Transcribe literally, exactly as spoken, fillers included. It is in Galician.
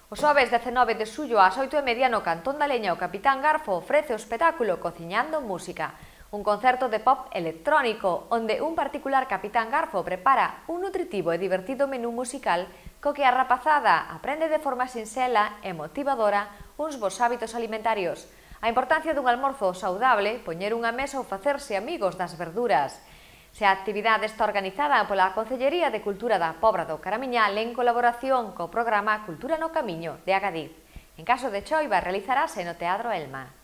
O xoves dezenove de xullo ás oito e media no Cantón da Leña o Capitán Garfo ofrece o espectáculo Cociñando Música, un concerto de pop electrónico onde un particular Capitán Garfo prepara un nutritivo e divertido menú musical co que a rapazada aprende de forma sinxela e motivadora uns bons hábitos alimentarios, a importancia dun almorzo saudable, poñer unha mesa ou facerse amigos das verduras. Se a actividade está organizada pola Concellería de Cultura da Pobra do Caramiñal en colaboración co programa Cultura no Camiño de Agadiz. En caso de choiva, realizarase no Teatro Elma.